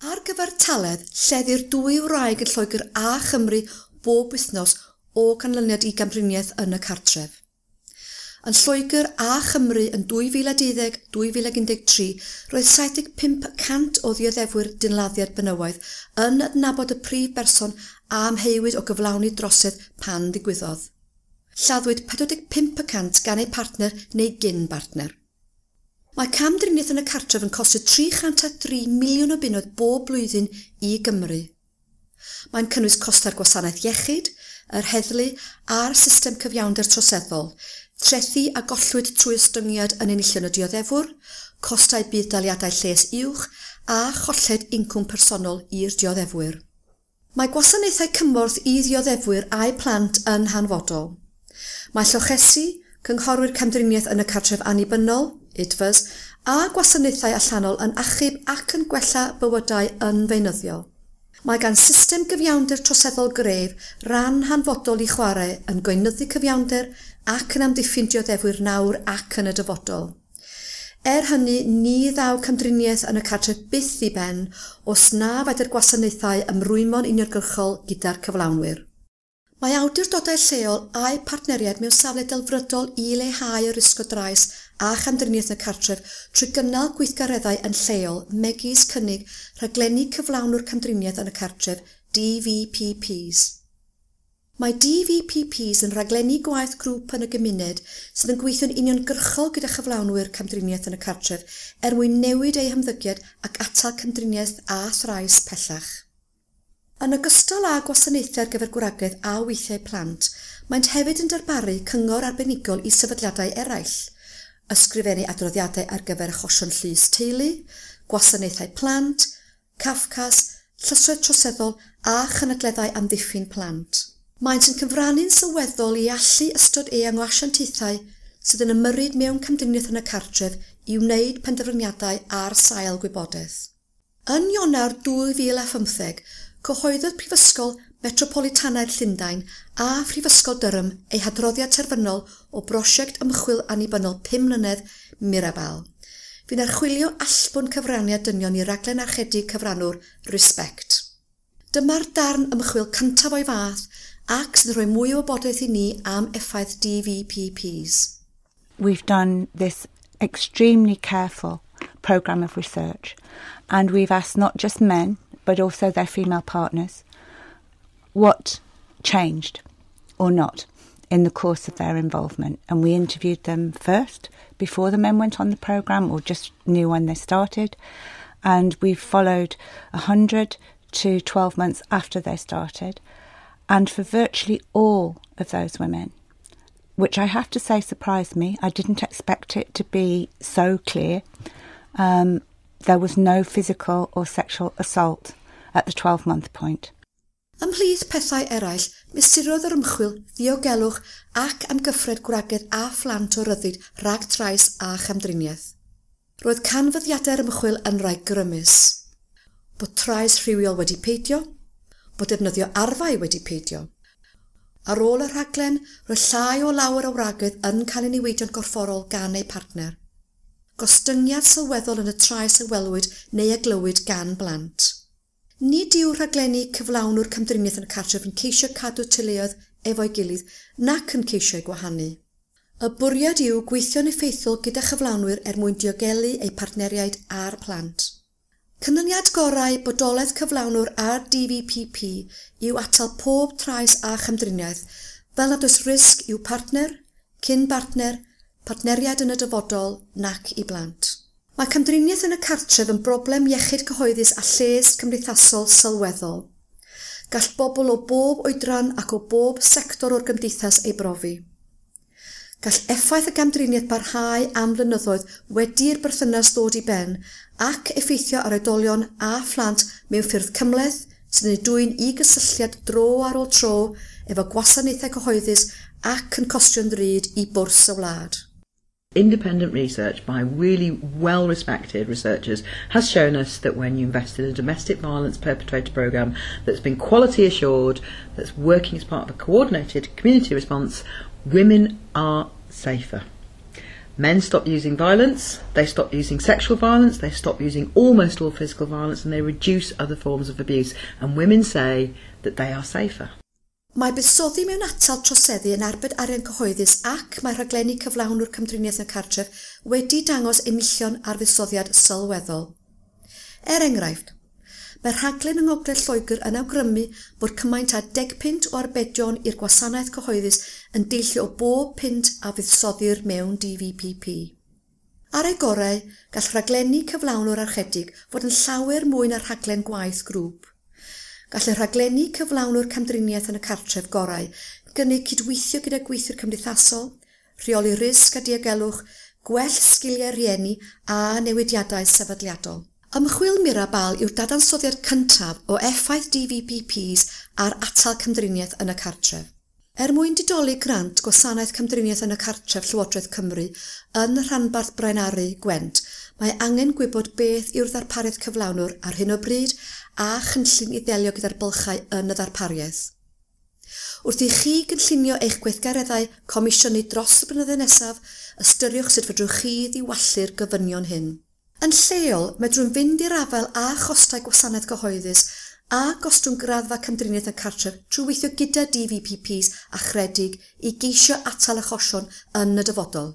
Ar gyfartaledd, lleddir dwy wraig yn Lloegr a Chymru bob wythnos o ganlyniad i gamdriniaeth yn y cartref. Yn Lloegr a Chymru yn 2012-2013, roedd 75% o ddioddefwyr dynladdiad benywaidd yn adnabod y prif berson a amheuwyd o gyflawni drosedd pan ddigwyddodd. Lladdwyd 45% gan eu partner neu gyn-bartner. Mae camdriniaeth yn y cartref yn costio 303 miliwn o bunnoedd bob blwyddyn i Gymru. Mae'n cynnwys costau'r gwasanaeth iechyd, yr heddlu a'r system cyfiawnder troseddol, trethi a gollwyd trwy ostyngiad yn enillion y dioddefwr, costau budd-daliadau lles uwch a cholled incwm personol i'r dioddefwyr. Mae gwasanaethau cymorth i ddioddefwyr a'u plant yn hanfodol. Mae llochesi, cynghorwyr camdriniaeth yn y cartref annibynnol, IDVAs, a gwasanaethau allanol yn achub ac yn gwella bywydau yn feunyddiol. Mae gan system gyfiawnder troseddol gref ran hanfodol i chwarae yn gweinyddu cyfiawnder ac yn amddiffyn dioddefwyr nawr ac yn y dyfodol. Er hynny, ni ddaw camdriniaeth yn y cartref byth i ben os na fedr gwasanaethau ymrwymo'n uniongyrchol gyda'r cyflawnwyr. Mae awdurdodau lleol a'u partneriaid mewn safle delfrydol i leihau y risg o drais a chamdriniaeth yn y cartref trwy gynnal gweithgareddau yn lleol megis cynnig rhaglenni cyflawnwr camdriniaeth yn y cartref DVPPs. Mae DVPPs yn rhaglenni gwaith grŵp yn y gymuned sydd yn gweithio'n uniongyrchol gyda chyflawnwyr camdriniaeth yn y cartref er mwyn newid eu hymddygiad ac atal camdriniaeth a thrais pellach. Yn ogystal â gwasanaethau ar gyfer gwragedd a weithiau plant, maent hefyd yn darparu cyngor arbenigol i sefydliadau eraill, ysgrifennu adroddiadau ar gyfer achosion llys teulu, gwasanaethau plant, Cafcass, llysoedd troseddol a chynadleddau amddiffyn plant. Maent yn cyfrannu'n sylweddol i allu ystod eang o asiantaethau sydd yn ymyrryd mewn camdriniaeth yn y cartref i wneud penderfyniadau ar sail gwybodaeth. Yn Ionawr 2015, cyhoeddodd Prifysgol Metropolitanaidd Llundain a Phrifysgol Durham ei hadroddiad terfynol o brosiect ymchwil annibynnol 5 mlynedd Mirabal, fu'n archwilio allbwn cyfraniad dynion i raglen archedu cyfranwr Respect. Dyma'r darn ymchwil cyntaf o'i fath ac sydd yn rhoi mwy o wybodaeth i ni am effaith DVPPs. We've done this extremely careful programme of research, and we've asked not just men but also their female partners what changed or not in the course of their involvement. And we interviewed them first before the men went on the programme or just knew when they started, and we followed 100 to 12 months after they started. And for virtually all of those women, which I have to say surprised me, I didn't expect it to be so clear, there was no physical or sexual assault at the 12-month point. Ymhlith pethau eraill, mesurodd yr ymchwil ddiogelwch ac amgyffred gwragedd a phlant o ryddid rhag trais a chamdriniaeth. Roedd canfyddiadau'r ymchwil yn rhai grymus. Bod trais rhywiol wedi peidio, bod defnyddio arfau wedi peidio. Ar ôl y rhaglen, roedd llai o lawer o wragedd yn cael eu niweidio'n gorfforol gan eu partner. Gostyngiad sylweddol yn y trais a welwyd neu a glywyd gan blant. Nid yw rhaglenni cyflawnwr camdriniaeth yn y cartref yn ceisio cadw teuluoedd efo'i gilydd nac yn ceisio eu gwahanu. Y bwriad yw gweithio'n effeithiol gyda chyflawnwyr er mwyn diogelu eu partneriaid a'r plant. Canlyniad gorau bodolaeth cyflawnwr a'r DVPP yw atal pob trais a chamdriniaeth fel nad oes risg i'w partner, cyn-bartner, partneriaid yn y dyfodol nac i blant. Mae camdriniaeth yn y cartref yn broblem iechyd cyhoeddus a lles cymdeithasol sylweddol. Gall bobl o bob oedran ac o bob sector o'r gymdeithas ei brofi. Gall effaith y gamdriniaeth barhau am flynyddoedd wedi'r berthynas ddod i ben ac effeithio ar oedolion a phlant mewn ffyrdd cymhleth sydd yn eu dwyn i gysylltiad dro ar ôl tro efo gwasanaethau cyhoeddus ac yn costio'n ddrud i bwrs y wlad. Independent research by really well-respected researchers has shown us that when you invest in a domestic violence perpetrator programme that's been quality assured, that's working as part of a coordinated community response, women are safer. Men stop using violence, they stop using sexual violence, they stop using almost all physical violence, and they reduce other forms of abuse. And women say that they are safer. Mae buddsoddi mewn atal troseddu yn arbed arian cyhoeddus ac mae rhaglenni cyflawnwr camdriniaeth yn y cartref wedi dangos enillion ar fuddsoddiad sylweddol. Er enghraifft, mae rhaglen yng Ngogledd Lloegr yn awgrymu bod cymaint â 10 punt o arbedion i'r gwasanaeth cyhoeddus yn deillio o bob punt a fuddsoddir mewn DVPP. Ar ei gorau, gall rhaglenni cyflawnwr archedig fod yn llawer mwy na rhaglen gwaith grŵp. Gall y rhaglenni cyflawnwr camdriniaeth yn y cartref gorau gynnig cydweithio gyda gweithwyr cymdeithasol, rheoli risg a diogelwch, gwell sgiliau rhieni a newidiadau sefydliadol. Ymchwil Mirabal yw'r dadansoddiad cyntaf o effaith DVPPs ar atal camdriniaeth yn y cartref. Er mwyn didoli grant Gwasanaeth Camdriniaeth yn y Cartref Llywodraeth Cymru yn rhanbarth Braenaru Gwent, mae angen gwybod beth yw'r ddarpariaeth cyflawnwr ar hyn o bryd a chynllun i ddelio gyda'r bylchau yn y ddarpariaeth. Wrth i chi gynllunio eich gweithgareddau comisiynu dros y blynyddoedd nesaf, ystyriwch sut fedrwch chi ddiwallu'r gofynion hyn. Yn lleol, medrwn fynd i'r afael â chostau gwasanaeth gyhoeddus a gostwng graddfa camdriniaeth yn cartref trwy weithio gyda DVPPs achredig i geisio atal achosion yn y dyfodol.